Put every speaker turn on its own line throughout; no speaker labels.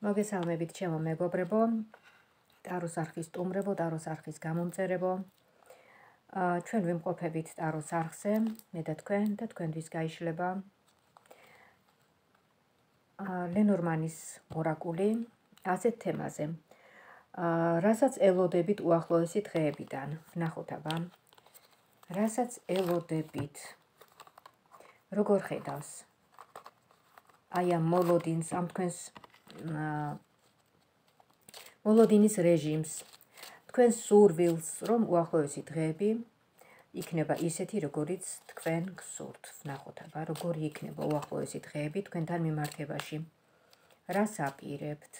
მოგესალმებით ჩემო მეგობრებო, ტაროს არხის სტუმრებო, ტაროს არხის გამომწერებო. ჩვენ ვიმყოფებით ტაროს არხზე, მე და თქვენთვის გაიშლება ლენორმანის ორაკული ასეთ თემაზე. რასაც ელოდებით უახლოესი დღეებიდან, ვნახოთ აბა. რასაც ელოდებით. როგორ ხედავს? აი ამ მოლოდინს, ამ თქვენს მოლოდინის რეჟიმს, თქვენ სურვილს, რომ უახლოესი დღეები იქნება ისეთი, როგორიც თქვენ გსურთ. ვნახოთ აბა, როგორი იქნება უახლოესი დღეები თქვენთან მიმართებაში. რას აპირებთ,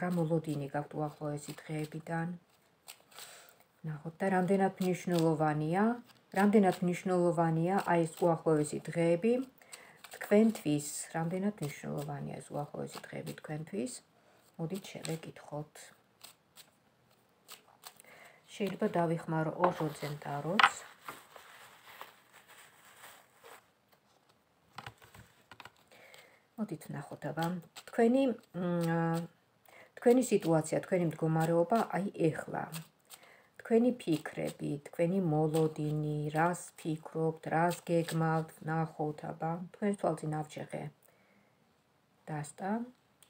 რა მოლოდინი გაქვთ უახლოესი დღეებიდან. ვნახოთ და რამდენად მნიშვნელოვანია აი ეს უახლოესი დღეები თქვენთვის, რამდენად მნიშვნელოვანია ეს უახლოესი დღეები თქვენთვის. მოდით შევეკითხოთ. შეიძლება დავიხმარო ოჟოძენ ტაროც. მოდით ვნახოთ აბა. თქვენი სიტუაცია, თქვენი მდგომარეობა აი ეხლა. თქვენი ფიქრები, თქვენი მოლოდინი, რას ფიქრობთ, რას გეგმავთ, ვნახოთ აბა. თქვენ თვალწინ ავჭეხე. დასტა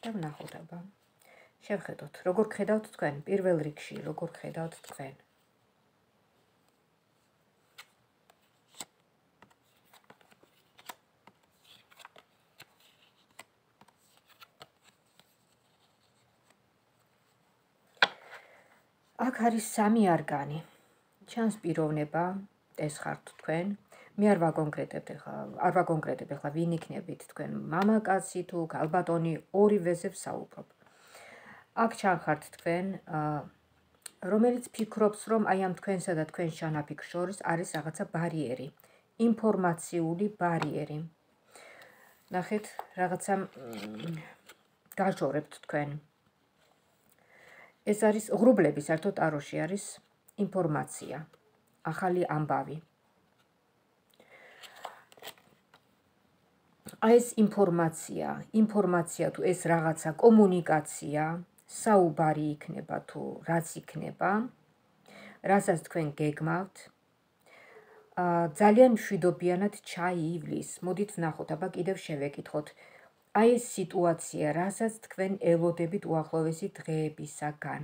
და ვნახოთ აბა. შევხედოთ, როგორ ხედავთ თქვენ, პირველ რიგში, როგორ ხედავთ თქვენ. აქ არის სამი არგანი. ჩანს პიროვნება, ეს ხართ თქვენ. მე არ ვაკონკრეტებ ახლა ვინ იქნებით თქვენ, მამაკაცი თუ ქალბატონი, ორივეზე ვსაუბრობ. აქ ჩანხართ თქვენ, რომელიც ფიქრობს, რომ აი ამ თქვენსა და თქვენ შანაფიქრ შორის არის რაღაცა ბარიერი, ინფორმაციული ბარიერი. ნახეთ, რაღაცა გაჟორებთ თქვენ. ეს არის ღრუბლები, საერთოდ ტაროში არის ინფორმაცია, ახალი ამბავი. აი ეს ინფორმაცია თუ ეს რაღაცა კომუნიკაცია, საუბარი იქნება თუ რაც იქნება, რასაც თქვენ გეგმავთ, ძალიან მშვიდობიანად ჩაივლის. მოდით ვნახოთ, აბა კიდევ შევეკითხოთ. აი ეს სიტუაცია, რასაც თქვენ ელოდებით უახლოესი დღეებისაგან.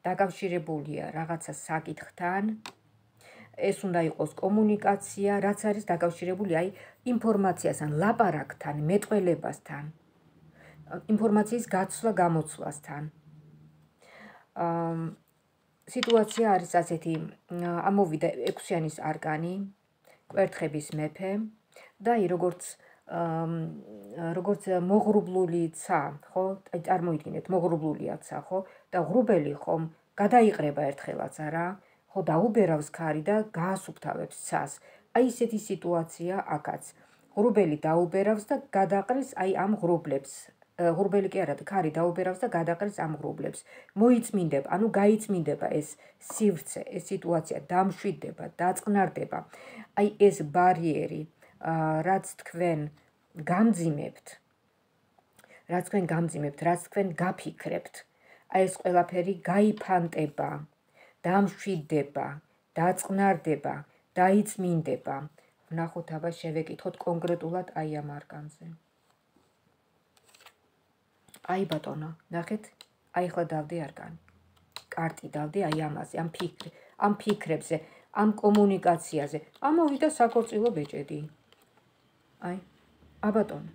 დაკავშირებულია რაღაცა საკითხთან, ეს უნდა იყოს კომუნიკაცია, რაც არის დაკავშირებული აი ინფორმაციასთან, ლაპარაკთან, მეტყველებასთან, ინფორმაციის გაცვლა-გამოცვლასთან. სიტუაცია არის ასეთი, ამოვიდა 6-იანის არკანი, კვერთხების მეფე და აი როგორც მოღრუბლული ცა, ხო? აი წარმოიდგინეთ, მოღრუბლულია ცა, ხო? და ღრუბელი ხომ გადაიყრება ერთხელაც, არა? ხო, დაუბერავს ქარი და გაასუფთავებს ცას. აი ესეთი სიტუაცია აქაც. ღრუბელი დაუბერავს და გადაყრის აი ამ ღრუბლებს. ღრუბელი კი არა, ქარი დაუბერავს და გადაყრის ამ ღრუბლებს. მოიწმინდება, ანუ გაიწმინდება ეს სივრცე, ეს სიტუაცია დამშვიდდება, დაწყნარდება. აი ეს ბარიერი, რაც თქვენ გამძიმებთ, რაც თქვენ გაფიქრებთ, აი ეს ყველაფერი გაიფანტება, დამშვიდდება, დაწყნარდება, დაიწმინდება. ვნახოთ აბა, შევეკითხოთ კონკრეტულად აი ამ არკანზე. აი ბატონო, ნახეთ, აი ახლა დავდი არკანი. კარტი დავდი აი ამაზე, ამ ფიქრებზე, ამ კომუნიკაციაზე. ამოვიდა საქორწილო ბეჭედი. აი, აბატონო.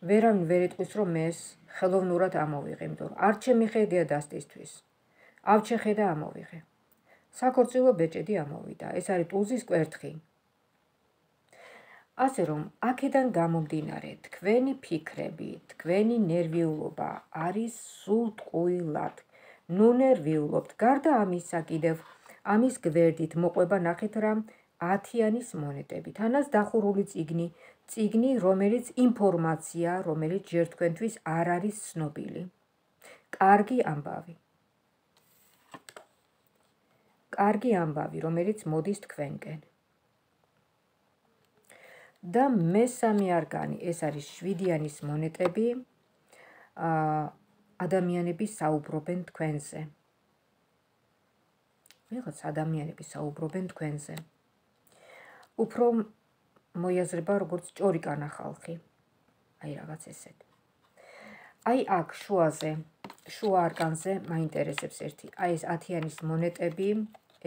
ვერავინ ვერ იტყვის, რომ მე ეს ხელოვნურად ამოვიღე, იმიტომ რომ არ ჩემი ხედია დასტისთვის. ავჩეხე და ამოვიღე. საქორწილო ბეჭედი ამოვიდა. ეს არის ტულზის კვერთხი. ასე რომ, აქედან გამომდინარე, თქვენი ფიქრები, თქვენი ნერვიულობა არის სულ ტყუილად. ნუ ნერვიულობთ. გარდა ამისა კიდევ ამის გვერდით მოყვება, ნახეთ რა, 10-იანის მონეტები. თანაც დახურული წიგნი, რომელიც ინფორმაცია, რომელიც ჯერ თქვენთვის არ არის ცნობილი. კარგი ამბავი, რომელიც მოდის თქვენკენ. და მესამე არგანი, ეს არის 7-იანის მონეტები, ადამიანები საუბრობენ თქვენზე. ვიღაც ადამიანები საუბრობენ თქვენზე. უფრო მოიაზრება როგორც ჭორიკანა ხალხი. აი რაღაც ესეთ. აი აქ შუაზე, შუა არკანზე მაინტერესებს ერთი. აი ეს 10-იანის მონეტები,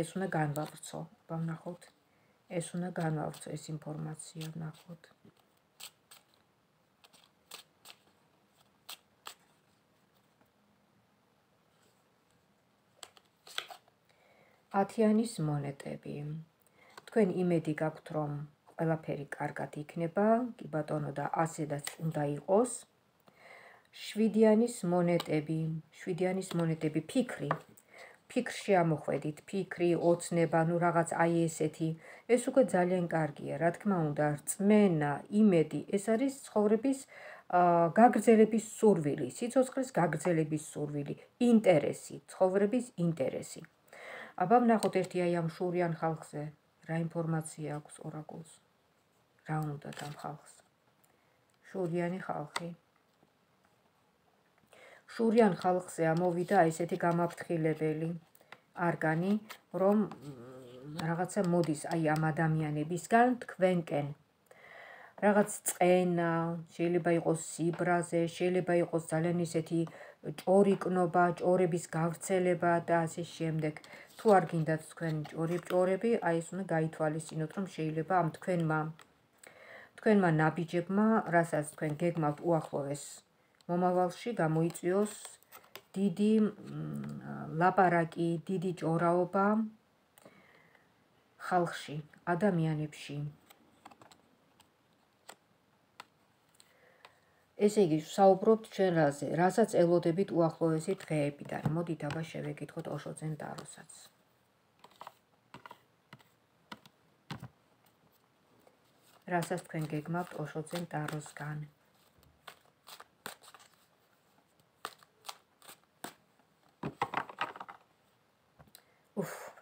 ეს უნდა განვავრცო. ვნახოთ. ეს უნდა განვავრცო ეს ინფორმაცია, ვნახოთ. ათიანის მონეტები. თქვენ იმედი გაქვთ, რომ ყველაფერი კარგად იქნება, კი ბატონო და ასედაც უნდა იყოს. 7-იანის მონეტები, ფიქრი. ფიქრში ამოხვედით, ფიქრი, ოცნება, ნუ რაღაც აი ესეთი. ეს უკვე ძალიან კარგია, რა თქმა უნდა, რწმენა, იმედი, ეს არის ცხოვრების გაგრძელების სურვილი, სიცოცხლის გაგრძელების სურვილი, ინტერესი, ცხოვრების ინტერესი. აბა ვნახოთ ერთი აი ამ შურიან ხალხზე, რა ინფორმაცია აქვს ორაკულს, რა უნდა ამ ხალხს. შურიანი ხალხი. შურიან ხალხზე ამოვიდა ესეთი გამაფრთხილებელი არგანი, რომ რაღაცა მოდის აი ამ ადამიანებისგან თქვენკენ. რაღაც წყენა, შეიძლება იყოს სიბრაზე, შეიძლება იყოს ძალიან ისეთი ჭორიკნობა, ჭორების გავრცელება და ასე შემდეგ. თუ არ გინდათ თქვენ ჭორები, აი ეს უნდა გაითვალისწინოთ, რომ შეიძლება ამ თქვენმა ნაბიჯებმა, რასაც თქვენ გეგმავთ უახლოეს მომავალში, გამოიწვიოს დიდი ლაპარაკი, დიდი ჭორაობა ხალხში, ადამიანებში. ესე იგი, ვსაუბრობთ ჩვენ რაზე, რასაც ელოდებით უახლოესი დღეებიდან. მოდით აბა შევეკითხოთ ოშოძენ ტაროსაც. რასაც თქვენ გეგმავთ ოშოძენ ტაროსგან.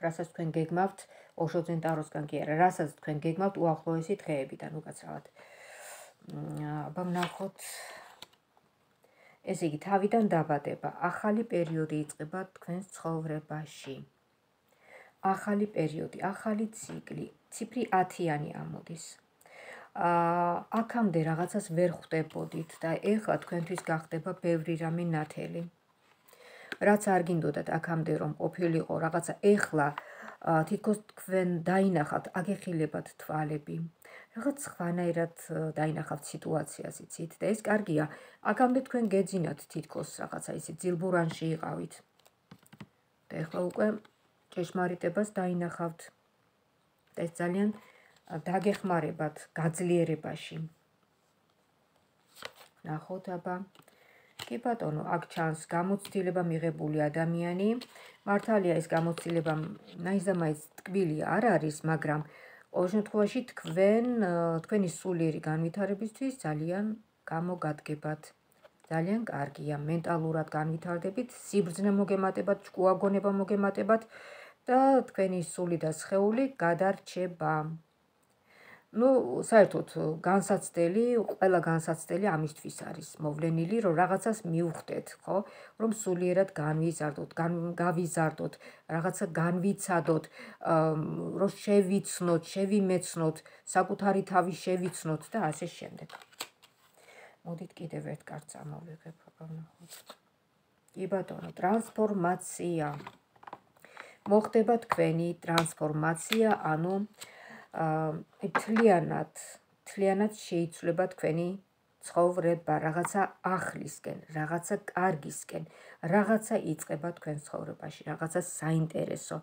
რასაც თქვენ გეგმავთ ოშოძენ ტაროსგან კი არა, რასაც თქვენ გეგმავთ უახლოესი დღეებიდან, უკაცრავად. აბა ვნახოთ. ესე იგი, თავიდან დაბადება, ახალი პერიოდი იწყება თქვენს ცხოვრებაში. ახალი პერიოდი, ახალი ციკლი, ციფრი 10-იანი ამოდის. აქამდე რაღაცას ვერ ხვდებოდით და ეხლა თქვენთვის გახდება ბევრი რამე ნათელი. რაც არ გინდოდათ აქამდე რომ ყოფილიყო რაღაცა, ეხლა თითქოს თქვენ დაინახავთ, აგეხილებათ თვალები. რაღაც სხვანაირად დაინახავთ სიტუაციას, იცით, და ეს კარგია. აქამდე თქვენ გეძინათ თითქოს რაღაცა ისე ძილბურანში იყავით. და ეხლა უკვე ჭეშმარიტებას დაინახავთ. და ეს ძალიან დაგეხმარებათ გაძლიერებაში. ნახოთ აბა. კი ბატონო, აქ ჩანს გამოცდილება მიღებული ადამიანი. მართალია ეს გამოცდილება ნაიზამაიც ტკბილი არ არის, მაგრამ ყოველ შემთხვევაში თქვენი სულიერი განვითარებისთვის ძალიან გამოგადგებათ. ძალიან კარგია, მენტალურად განვითარდებით, სიბრძნე მოგემატებათ, ჭკუაგონება მოგემატებათ და თქვენი სული და სხეული გადარჩება. ნუ საერთოდ ყველა განსაცდელი ამისთვის არის მოვლენილი, რომ რაღაცას მივხვდეთ, ხო? რომ სულიერად გავიზარდოთ, რაღაცა განვიცადოთ, რომ შევიმეცნოთ, საკუთარი თავი შევიცნოთ და ასე შემდეგ. მოდით კიდევ ერთ კარტს ამოვიღებ, აბა ვნახოთ. კი ბატონო, ტრანსფორმაცია. მოხდება თქვენი ტრანსფორმაცია, ანუ თლიანად შეიცვლება თქვენი ცხოვრება, რაღაცა ახლისკენ, რაღაცა კარგისკენ, რაღაცა იწყება თქვენ ცხოვრებაში, რაღაცა საინტერესო.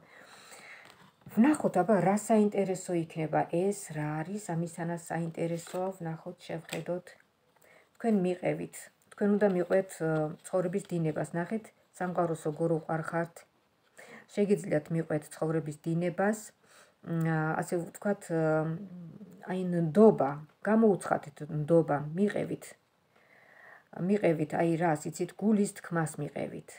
ვნახოთ აბა რა საინტერესო იქნება ეს, რა არის ამისთანაც საინტერესო, ვნახოთ, შევხედოთ. თქვენ მიყევით, თქვენ უნდა მიყვეთ ცხოვრების დინებას, ნახეთ, სამყაროს როგორ უყვარ ხართ. შეგიძლიათ მიყვეთ ცხოვრების დინებას, ასე ვთქვათ, აი ნდობა, გამოუცხადეთ ნდობა, მიყევით აი რას, იცით, გულის თქმას მიყევით.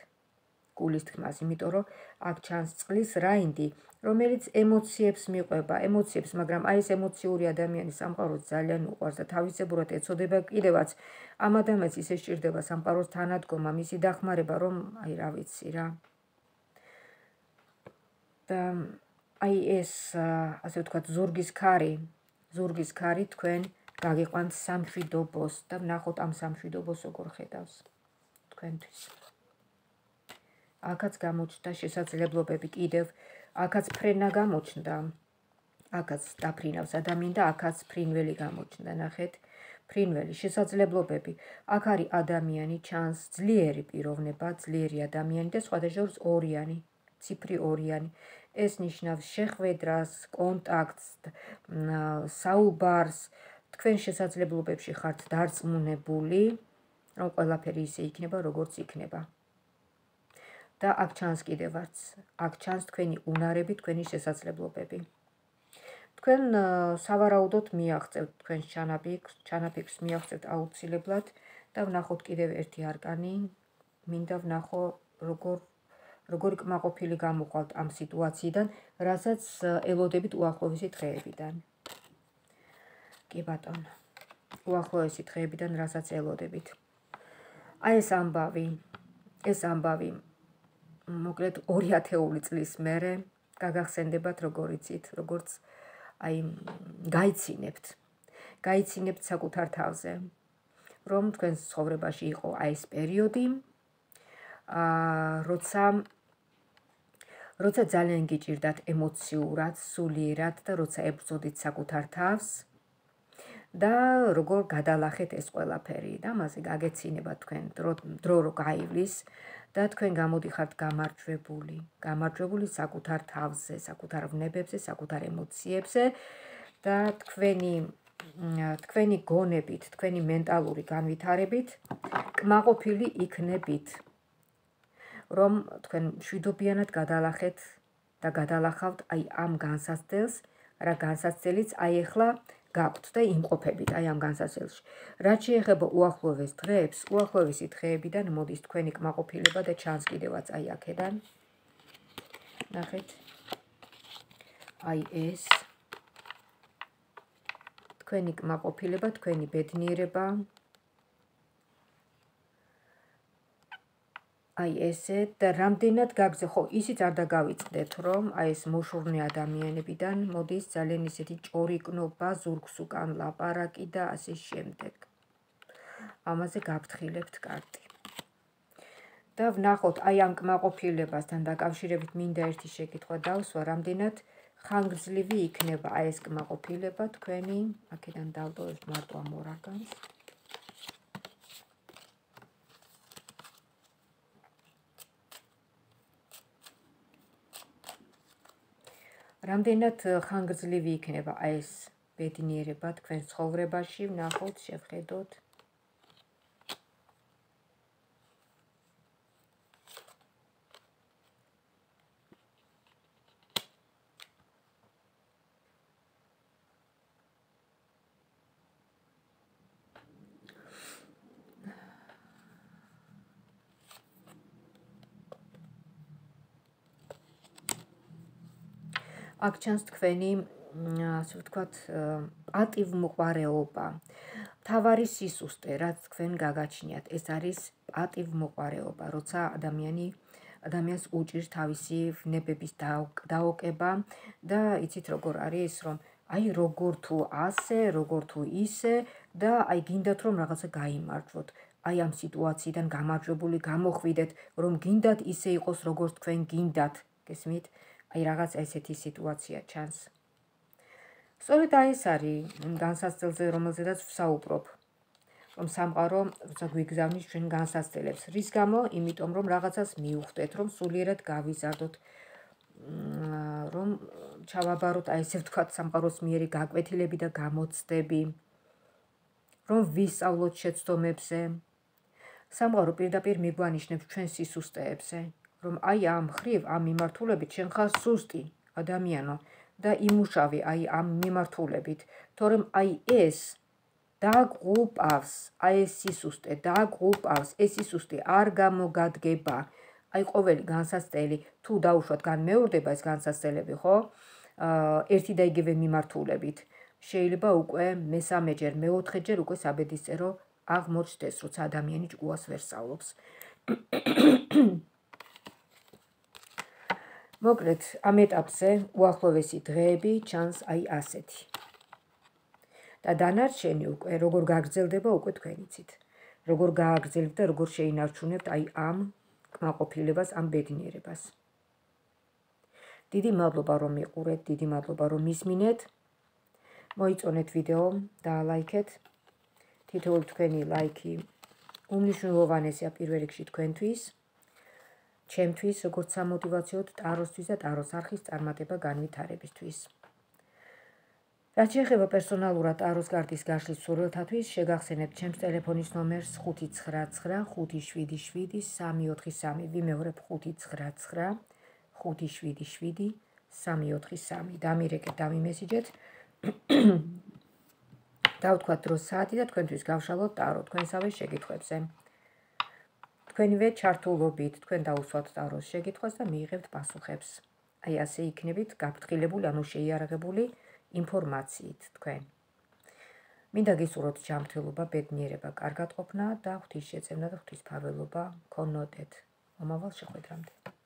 გულის თქმას, იმიტომ რომ აქ ჩანს წყლის რაინდი, რომელიც ემოციებს მიყვება, ემოციებს, მაგრამ აი ეს ემოციური ადამიანი სამყაროს ძალიან უყვარს და თავისებურად ეწოდება კიდევაც ამ ადამიანს ისე სჭირდება სამყაროს თანადგომა, მისი დახმარება, რომ აი რა ვიცი რა. და აი ეს ასე ვთქვათ ზურგის ქარი თქვენ გაგიყვანთ სამშვიდობოს და ვნახოთ ამ სამშვიდობოს როგორ ხედავს თქვენთვის. აქაც გამოჩნდა შესაძლებლობები კიდევ, აქაც ფრენა გამოჩნდა, აქაც დაფრინავს ადამიანი და აქაც ფრინველი გამოჩნდა, ნახეთ, ფრინველი, შესაძლებლობები. აქ არის ადამიანი, ჩანს ძლიერი პიროვნება, ძლიერი ადამიანი და სხვადასხვა ორიანი, ციფრი ორიანი. ეს ნიშნავს შეხვედრას, კონტაქტს, საუბარს, თქვენ შესაძლებლობებში ხართ დარწმუნებული, რომ ყველაფერი ისე იქნება, როგორც იქნება. და აქ ჩანს კიდევაც, აქ ჩანს თქვენი უნარები, თქვენი შესაძლებლობები. თქვენ სავარაუდოდ მიაღწევთ თქვენს ჩანაფიქრს მიაღწევთ აუცილებლად და ვნახოთ კიდევ ერთი არკანი, მინდა ვნახო როგორი კმაყოფილი გამოყვალთ ამ სიტუაციიდან, რასაც ელოდებით უახლოესი დღეებიდან. კი ბატონო, უახლოესი დღეებიდან, რასაც ელოდებით. აი ეს ამბავი, მოკლედ 2000 წლის მერე გაგახსენდებათ როგორ იცით, როგორც აი გაიცინებთ საკუთარ თავზე, რომ თქვენს ცხოვრებაში იყო აი ეს პერიოდი, როცა ძალიან გიჭირდათ ემოციურად, სულიერად და როცა ებრძოდით საკუთარ თავს და როგორ გადალახეთ ეს ყველაფერი და მასე გაგეცინება თქვენ დრო რო გაივლის და თქვენ გამოდიხართ გამარჯვებული საკუთარ თავზე, საკუთარ ვნებებზე, საკუთარ ემოციებზე და თქვენი გონებით, თქვენი მენტალური განვითარებით კმაყოფილი იქნებით, რომ თქვენ მშვიდობიანად გადალახეთ და გადალახავთ აი ამ განსაცდელს, რა განსაცდელიც აი ახლა გაქვთ და იმყოფებით აი ამ განსაცდელში. რაც შეეხება უახლოეს დღეებს, უახლოესი დღეებიდან მოდის თქვენი კმაყოფილება და ჩანს კიდევაც აი აქედან. ნახეთ. აი ეს თქვენი კმაყოფილება, თქვენი ბედნიერება. აი ესე და რამდენად გაგზე, ხო, ისიც არ დაგავიწყდეთ, რომ აი ეს მოშურნე ადამიანებიდან მოდის ძალიან ისეთი ჭორიკნობა, ზურგს უკან ლაპარაკი და ასე შემდეგ. ამაზე გაფრთხილებთ კარტი. და ვნახოთ აი ამ კმაყოფილებასთან დაკავშირებით მინდა ერთი შეკითხვა დავსვა, რამდენად ხანგრძლივი იქნება აი ეს კმაყოფილება თქვენი, აქედან დავტოვებ მარტო ამ ორ არკანს. რამდენად ხანგრძლივი იქნება აი ეს ბედნიერება თქვენ ცხოვრებაში, ვნახოთ, შევხედოთ. აქ ჩანს თქვენი, ასე ვთქვათ, პატივმოყვარეობა. მთავარი სისუსტე, რაც თქვენ გაგაჩნიათ, ეს არის პატივმოყვარეობა, როცა ადამიანს უჭირს თავისი ვნებების დაოკება და იცით როგორ არის, რომ აი როგორ თუ ასე, როგორ თუ ისე და აი გინდათ რომ რაღაცა გაიმარჯვოთ. აი ამ სიტუაციიდან გამარჯვებული გამოხვიდეთ, რომ გინდათ ისე იყოს, როგორც თქვენ გინდათ, გესმით? აი რაღაც ესეთი სიტუაცია ჩანს. სწორედ აი ეს არის განსაცდელზე, რომელზედაც ვსაუბრობ, რომ სამყარო გვიგზავნის ჩვენ განსაცდელებს. რის გამო? იმიტომ რომ რაღაცას მიუხვდეთ, რომ სულიერად გავიზარდოთ, რომ ჩავაბაროთ აი ესე ვთქვათ სამყაროს მიერი გაკვეთილები და გამოცდები, რომ ვისწავლოთ შეცდომებზე. სამყარო პირდაპირ მიგვანიშნებს ჩვენ სისუსტეებზე. რომ აი ამ ხრივ, ამ მიმართულებით შენ ხარ სუსტი ადამიანო და იმუშავე აი ამ მიმართულებით, თორემ აი ეს დაგღუპავს, აი ეს სისუსტე დაგღუპავს, ეს სისუსტე არ გამოგადგება, აი ყოველი განსასწრელი თუ დაუშვათ განმეორდება ეს განსასწრელები, ხო? ერთი და იგივე მიმართულებით. შეიძლება უკვე მესამეჯერ, მეოთხეჯერ უკვე საბედისწერო აღმოჩნდეს, როცა ადამიანი ჭკუას ვერ სწავლობს. მოკლედ, ამ ეტაპზე უახლოვესი დღეები ჩანს აი ასეთი. და დანარჩენი უკვე როგორ გაგრძელდება უკვე თქვენ იცით. როგორ გააგრძელებთ და როგორ შეინარჩუნებთ აი ამ კმაყოფილებას, ამ ბედნიერებას. დიდი მადლობა რომ მიყურეთ, დიდი მადლობა რომ მისმინეთ. მოიწონეთ ვიდეო, დაალაიქეთ. თითოეული თქვენი ლაიქი უმნიშვნელოვანესია პირველ რიგში თქვენთვის, ჩემთვის, როგორც სამოტივაციოდ ტაროსთვის და ტაროს არხის წარმატება განვითარებისთვის. რაც შეეხება პერსონალურად ტაროს კარტის გაშლის მსურველთათვის, შეგახსენებთ ჩემს ტელეფონის ნომერს 599-577-343. ვიმეორებ 599-577-343. დამირეკეთ, დამიმესიჯეთ. დავთქვათ დროს საათი და თქვენთვის გავშალოთ ტარო თქვენსავე შეკითხვებზე. თქვენივე ჩართულობით თქვენ დაუსვათ ტაროს შეკითხვას და მიიღებთ პასუხებს. აი ასე იქნებით გაფრთხილებული, ანუ შეიარაღებული ინფორმაციით თქვენ. მინდა გისურვოთ ჯანმრთელობა, ბედნიერება, კარგად ყოფნა და ღვთისშეწევნა და ღვთისმფარველობა გქონოდეთ. მომავალ შეხვედრამდე.